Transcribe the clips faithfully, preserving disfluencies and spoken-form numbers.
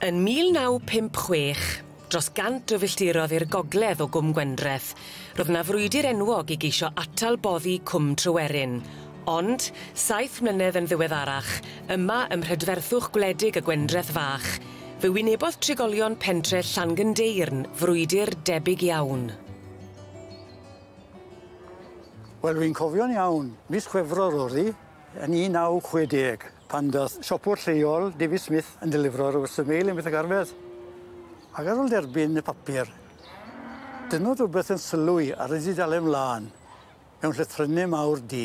Yn mil naw pump chwech, dros gant o filltirodd i'r gogledd o Gwm Gwendraeth, roedd 'na frwydr enwog i geisio atal boddi Cwm Tryweryn. Ond, saith mlynedd yn ddiweddarach, yma ym mhrydferthwch gwledig y Gwendraeth fach, fe wynebodd trigolion pentre Llangyndeyrn frwydr debyg iawn. Wel, fi'n cofio'n iawn, mis Chwefror o'dd 'i, yn un naw chwe deg, pan dath siopwr lleol, David Smith, yn delifro yr Western Mail yn Beth Arfedd. Ac ar ôl derbyn y papur, dynnodd rwbeth yn sylwi ar y dudalen mlan, mewn llythrynne mawr du,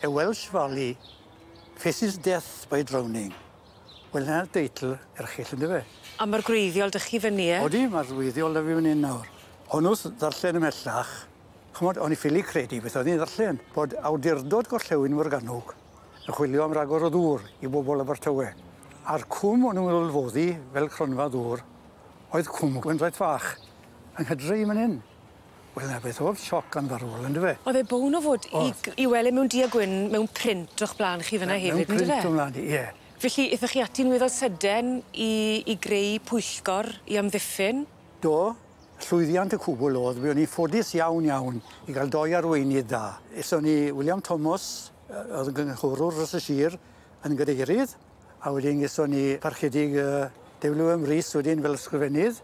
A Welsh Valley faces death by drowning. Wel, 'na'r deitl erchyll yndyfe? A ma'r gwreiddiol 'dych chi fyny, ie? Odi, ma'r gwreiddiol 'da fi fan 'yn nawr. O'n wrth ddarllen ymhellach, ch'mod, o'n i ffili credu beth o'n i'n ddarllen, bod awdurdod gorllewin Morgannwg yn chwilio am ragor o ddŵr i bobol Abertawe. A'r cwm o'n nw'n meddwl foddi, fel cronfa ddŵr, oedd Cwm Gwendraeth Fach, yng Nghydre i man 'yn. Wel, 'na beth o'dd sioc anfarwol, yndyfe? O'dd e bown o fod i g- i wel' e mewn du a gwyn mewn print o'ch bla'n chi fyn 'na hefyd, yndyfe? Mewn print o mlan i, ie. Felly, ithoch chi ati'n weddol syden i i greu pwyllgor i amddiffyn? Do, llwyddiant y cwbl o'dd, fuon ni ffodus iawn iawn i ga'l doi arweinydd da. Ethon ni William Thomas, yy o'dd yn gynghorwr dros y sir, yn gadeirydd, a wedyn gethon ni parchedig yy W M Rees wedyn fel ysgrifennydd,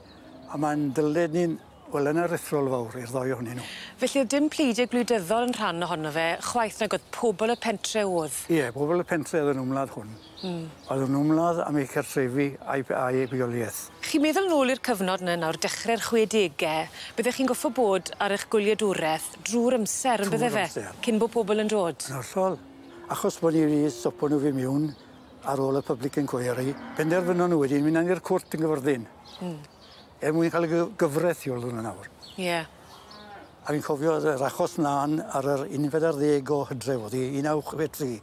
a ma'n dyled ni'n, wel yn aruthrol fawr i'r ddoi ohonyn nw. Felly o'dd dim pleidie gwleidyddol yn rhan ohono fe, chwaith nag o'dd pobol y pentre o'dd? Ie, pobol y pentre o'dd yn ymladd hwn. Hmm. O'dd o'n ymladd am eu cartrefi a'u p- a'u bywolieth. Chi'n meddwl nôl i'r cyfnod 'ny nawr, dechre'r chwedege, byddech chi'n goffo bod ar 'ych gwyliadwreth drw'r amser on' bydde fe? Trw'r amser. Cyn bo' pobol yn dod? Yn hollol. Achos bo' ni wedi stopo nw fyn' miwn ar ôl y public inquiry, penderfynon nw wedyn myn' lan i'r cwrt yn Gyfyrddin. Hmm. Er mwyn ca'l y gy- gyfreth i ôl hwnna nawr. Ie. A fi'n cofio o'dd yr achos mlan ar yr unfed ar ddeg o Hydref o'dd 'i, un naw chwe tri.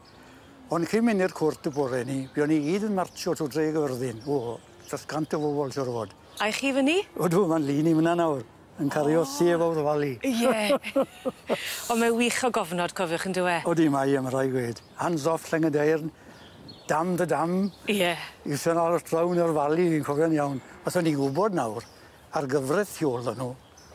Ond cyn mynd i'r cwrt y bore 'ny, buon ni gyd yn martsio trw dre Gyfyrddin. O, dros cant o bobol siŵr o fod. A 'ych chi fyny? Odw, ma'n lun i myn 'na nawr, yn cario Save Our Valley. Ie. On' mae wych o gofnod, cofiwch on'd yw e? Odi mae e, ma' rai' gweud. Hands off Llangyndeyrn, dam the dam. Ie. You shall not drown our valley, fi'n cofio'n iawn. Os o'n i'n gwbod nawr, ar gyfreth tu ôl 'dy nw,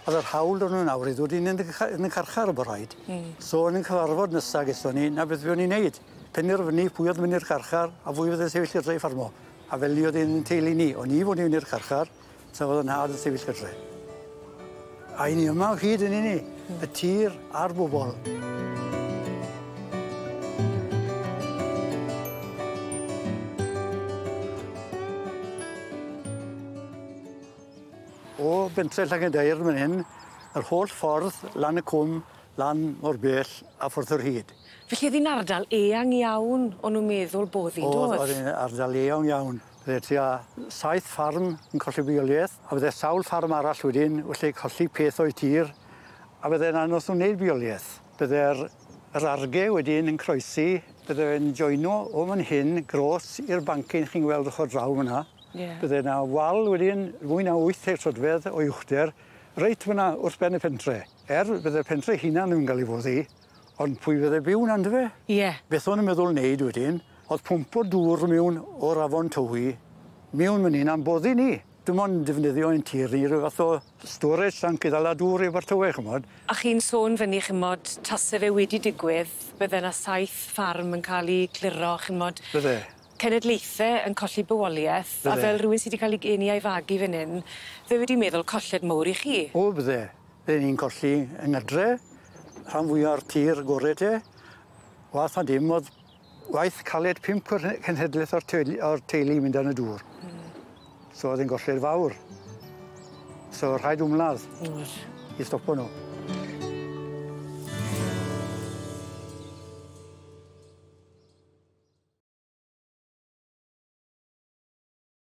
o'dd yr hawl 'dy nw nawr i ddod in yn y ca- yn y carchar o bo rhaid. Hmm. So yn y cyfarfod nesa gethon ni, 'na beth fuon ni'n neud. Penderfynu pwy o'dd mynd i'r carchar a phwy fydde sefyll gytre i ffarmo. A fel 'ny o'dd e'n teulu ni, o'n i fod i fynd i'r carchar, tra fod 'yn nhad yn sefyll gytre. A 'yn ni yma o hyd yn 'yn ni, y tir a'r bobol. O bentre Llangyndeyrn myn 'yn, yr holl ffordd lan y cwm, lan mor bell a ffordd yr hyd. Felly o'dd 'i'n ardal eang iawn o'n nw'n meddwl bod 'i, O'dd, do'dd? o'dd e'n ardal eang iawn. Bydde tua saith ffarm yn colli bywolieth, a bydde sawl ffarm arall wedyn felly colli peth o'u tir, a bydde'n anos nhw wneud bywolieth. Bydde'r yr arge wedyn yn croesi, bydde fe'n joino o fan hyn gros i'r bancyn chi'n gweld ochr draw fan 'na. Ie. Bydde 'na wal wedyn fwy na wyth troedfedd o uchder, reit fan 'na wrth ben y pentre. Er bydde'r pentre hunan ddim yn ga'l 'i foddi, ond pwy fydde byw 'na on'd yfe? Ie. Beth o'n nw'n meddwl neud wedyn, o'dd pwmpo dŵr miwn o'r afon Tywi, miwn myn 'yn a'n boddi ni. Dim ond defnyddio ein tir ni ryw fath o storage tank i ddala dŵr i Abertawe ch'mod. A chi'n sôn fyn 'ny ch'mod tase fe wedi digwydd, bydde 'na saith ffarm yn ca'l 'u cliro ch'mod. Bydde. Cenedlaethe yn colli bywolieth, a Bydde. fel rywun sy 'di ca'l 'i geni a'i fagu fyn 'yn, fe wedi meddwl colled mowr i chi. O bydde. Bydde ni'n colli yng Nghydre, rhan fwya o'r tir gore te. Wath na dim o'dd waith caled pump cwrne- cenhedleth o'r teulu o'r teulu mynd dan y dŵr. Hmm. So o'dd e'n golled fawr. So rhaid ymladd. O'dd. I stopo nw.